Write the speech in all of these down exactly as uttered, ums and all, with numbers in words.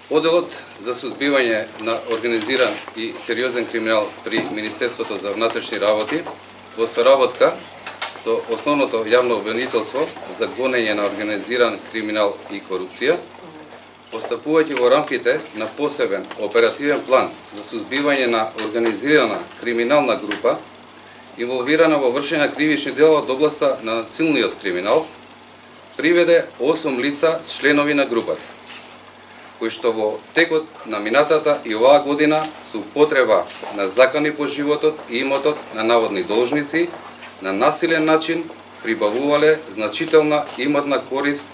Оделот за сузбивање на организиран и сериозен криминал при Министерството за внатрешни работи во соработка со основното јавно обвинителство за гонење на организиран криминал и корупција, постапувајќи во рамките на посебен оперативен план за сузбивање на организирана криминална група инволвирана во вршење кривични дела од областа на насилниот криминал, приведе осум лица членови на групата, кои што во текот на минатата и оваа година со употреба на закони по животот и имотот на наводни должници, на насилен начин прибавувале значителна имотна корист,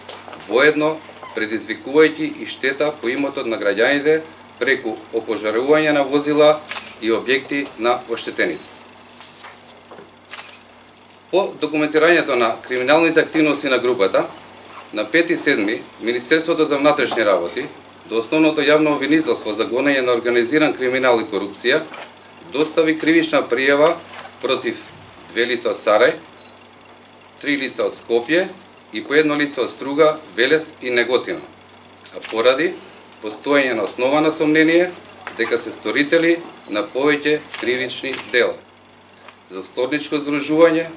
воедно предизвикувајќи и штета по имотот на граѓаните преку опожарување на возила и објекти на оштетените. По документирањето на криминалните активности на групата, на пети седми Министерството за внатрешни работи до основното јавно обвинителство за гонење на организиран криминал и корупција достави кривична пријава против две лица од Сарај, три лица од Скопје и по едно лице од Струга, Велес и Неготино, а поради постоење на основано сомнение дека се сторители на повеќе кривични дела за сторничко здружување,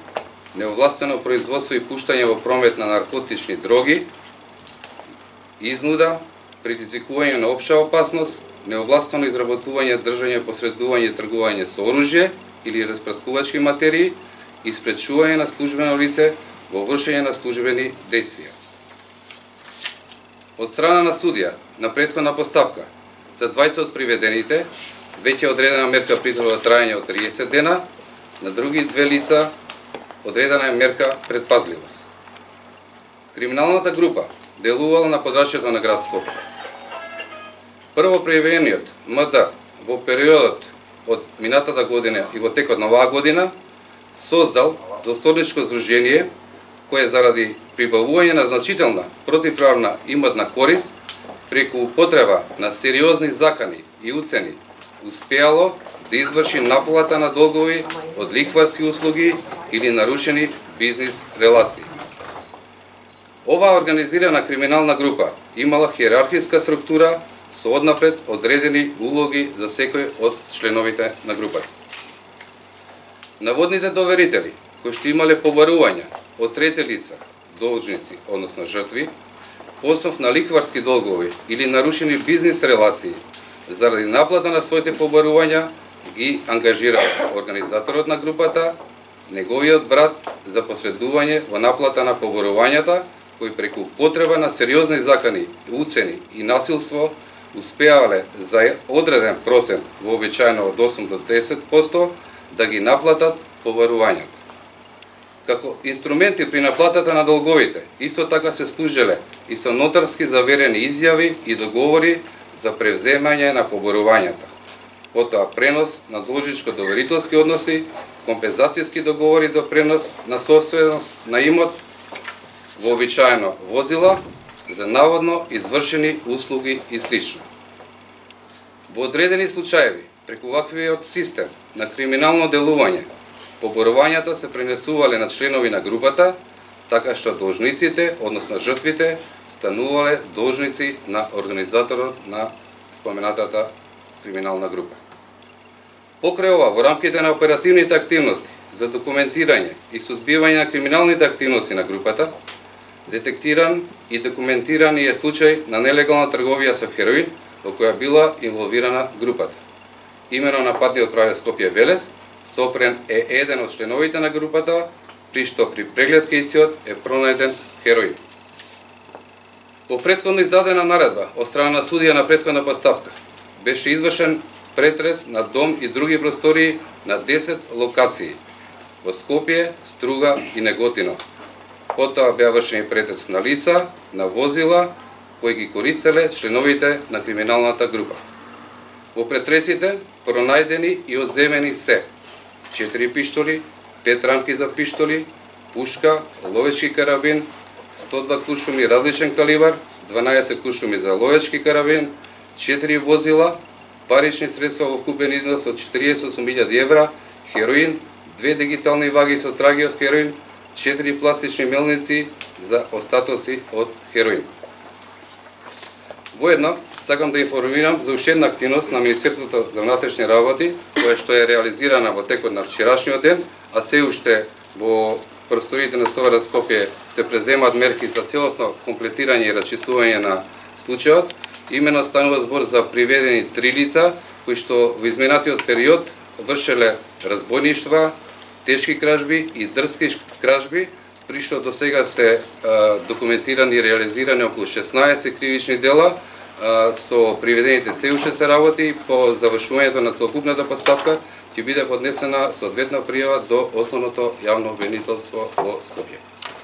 неовластено производство и пуштање во промет на наркотични дроги, изнуда, предизвикување на општа опасност, неовластено изработување, држање, посредување и тргување со оружје или распрскувачки материи и спречување на службено лице во вршење на службени действија. Од страна на судија на претходна постапка за двајца од приведените веќе одредена мерка притвор во трајање од триесет дена, на други две лица одредена е мерка предпазливост. Криминалната група делувала на подрачјето на град Скопје. Прво приведениот М Д во периодот од минатата година и во текот на оваа година создал засторничко здружение кое заради прибавување на значителна противправна имотна корист преку употреба на сериозни закани и уцени успеало да изврши наплата на долгови од лихварски услуги или нарушени бизнис релации. Оваа организирана криминална група имала хиерархиска структура со однапред одредени улоги за секој од членовите на групата. Наводните доверители, кои што имале побарувања од трети лица, должници, односно жртви, по основ на лихварски долгови или нарушени бизнис релации, заради наплата на своите побарувања, ги ангажира организаторот на групата, неговиот брат за посредување во наплата на побарувањата, кои преку потреба на сериозни закани, уцени и насилство успеале за одреден процент, вообичаено од осум до десет проценти, да ги наплатат побарувањата. Како инструменти при наплатата на долговите, исто така се служеле и со нотарски заверени изјави и договори за превземање на побарувањата, потоа пренос на должничко-доверителски односи, компензацијски договори за пренос на собственост на имот, вообичаено возила, за наводно извршени услуги и слично. Во одредени случаеви, преку ваквиот систем на криминално делување, побарувањата се пренесувале на членови на групата, така што должниците, односно жртвите, станувале должници на организаторот на споменатата криминална група. Покрај ова, во рамките на оперативните активности за документирање и сузбивање на криминалните активности на групата, детектиран и документиран е случај на нелегална трговија со хероин во која била инволвирана групата. Имено на патниот правец Скопје Велес, сопрен е еден од членовите на групата, при што при преглед кај истиот е пронајден хероин. По претходно издадена наредба од страна на судија на претходна постапка, беше извршен претрес на дом и други простории на десет локации во Скопје, Струга и Неготино. Потоа беа вршени претрес на лица, на возила, кои ги користеле членовите на криминалната група. Во претресите пронајдени и одземени се четири пиштоли, пет рамки за пиштоли, пушка, ловечки карабин, сто два куршуми различен калибар, дванаесет куршуми за ловечки карабин, четири возила, парични средства во вкупен износ од четириесет и осум илјади евра, хероин, две дигитални ваги со траги од хероин, четири пластични мелници за остатоци од хероин. Воедно, сакам да информирам за уште една активност на Министерството за внатрешни работи, која што е реализирана во текот на вчерашниот ден, а се уште во просториите на СВР Скопје се преземаат мерки за целосно комплетирање и расчистување на случајот. Имено станува збор за приведени три лица кои што во изминатиот период вршеле разбойништва, тешки кражби и дрски кражби, при што до сега се а, документирани и реализирани околу шеснаесет кривични дела, а, со приведените се уште се работи. По завршувањето на целокупната постапка ќе биде поднесена соодветна пријава до Основното јавно обвинителство во Скопје.